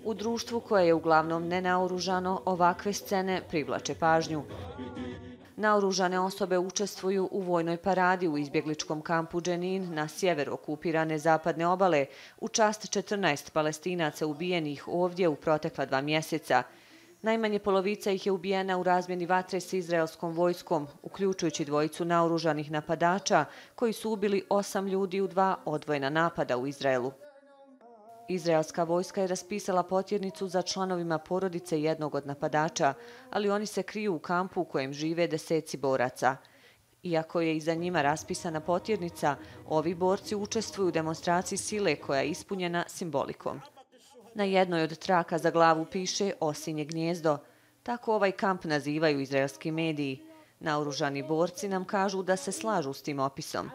U društvu koje je uglavnom nenaoružano, ovakve scene privlače pažnju. Naoružane osobe učestvuju u vojnoj paradi u izbjegličkom kampu Dženin na sjeveru okupirane zapadne obale u čast 14 Palestinaca ubijenih ovdje u protekla 2 mjeseca. Najmanje polovica ih je ubijena u razmjeni vatre s izraelskom vojskom, uključujući 2 naoružanih napadača koji su ubili 8 ljudi u 2 odvojena napada u Izraelu. Izraelska vojska je raspisala potjernicu za članovima porodice jednog od napadača, ali oni se kriju u kampu u kojem žive deseci boraca. Iako je iza njima raspisana potjernica, ovi borci učestvuju u demonstraciji sile koja je ispunjena simbolikom. Na jednoj od traka za glavu piše Osinje gnijezdo. Tako ovaj kamp nazivaju izraelski mediji. Naoružani borci nam kažu da se slažu s tim opisom.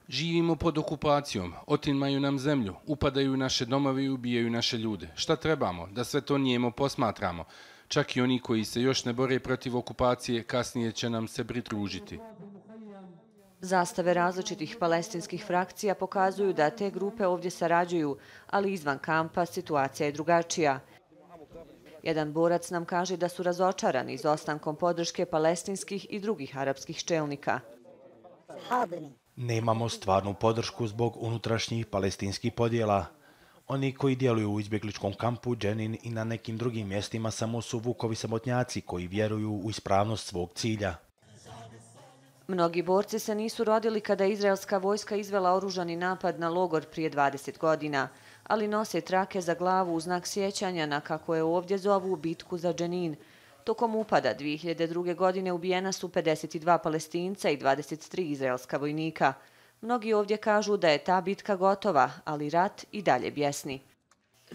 Živimo pod okupacijom, otimaju nam zemlju, upadaju u naše domove i ubijaju naše ljude. Šta trebamo? Da sve to nijemo posmatramo. Čak i oni koji se još ne bore protiv okupacije, kasnije će nam se pridružiti. Zastave različitih palestinskih frakcija pokazuju da te grupe ovdje sarađuju, ali izvan kampa situacija je drugačija. Jedan borac nam kaže da su razočarani izostankom podrške palestinskih i drugih arapskih čelnika. Nemamo stvarnu podršku zbog unutrašnjih palestinskih podjela. Oni koji djeluju u izbjegličkom kampu Dženin i na nekim drugim mjestima samo su vukovi samotnjaci koji vjeruju u ispravnost svog cilja. Mnogi borci se nisu rodili kada je izraelska vojska izvela oružani napad na logor prije 20 godina, ali nose trake za glavu u znak sjećanja na, kako je ovdje zovu, bitku za Dženin. Tokom upada 2002. godine ubijena su 52 Palestinca i 23 izraelska vojnika. Mnogi ovdje kažu da je ta bitka gotova, ali rat i dalje bjesni.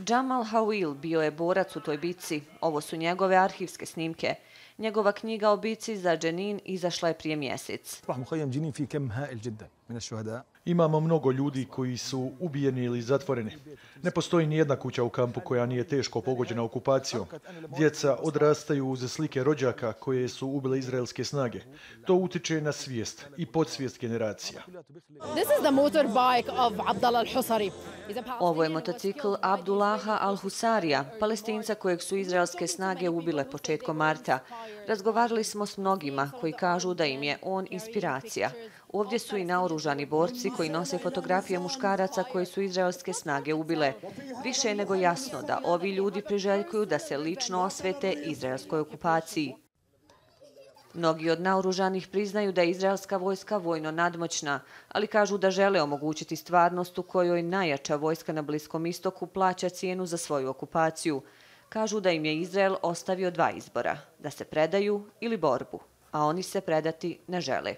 Jamal Hawil bio je borac u toj bitci. Ovo su njegove arhivske snimke. Njegova knjiga o bitci za Dženin izašla je prije mjesec. Imamo mnogo ljudi koji su ubijeni ili zatvoreni. Ne postoji ni jedna kuća u kampu koja nije teško pogođena okupacijom. Djeca odrastaju uz slike rođaka koje su ubile izraelske snage. To utiče na svijest i podsvijest generacija. Ovo je motocikl Abdullaha al-Husarija, Palestinca kojeg su izraelske snage ubile početkom marta. Razgovarali smo s mnogima koji kažu da im je on inspiracija. Ovdje su i naoružani borci koji nose fotografije muškaraca koje su izraelske snage ubile. Više je nego jasno da ovi ljudi priželjkuju da se lično osvete izraelskoj okupaciji. Mnogi od naoružanih priznaju da je izraelska vojska vojno nadmoćna, ali kažu da žele omogućiti stvarnost u kojoj najjača vojska na Bliskom istoku plaća cijenu za svoju okupaciju. Kažu da im je Izrael ostavio 2 izbora, da se predaju ili borbu, a oni se predati ne žele.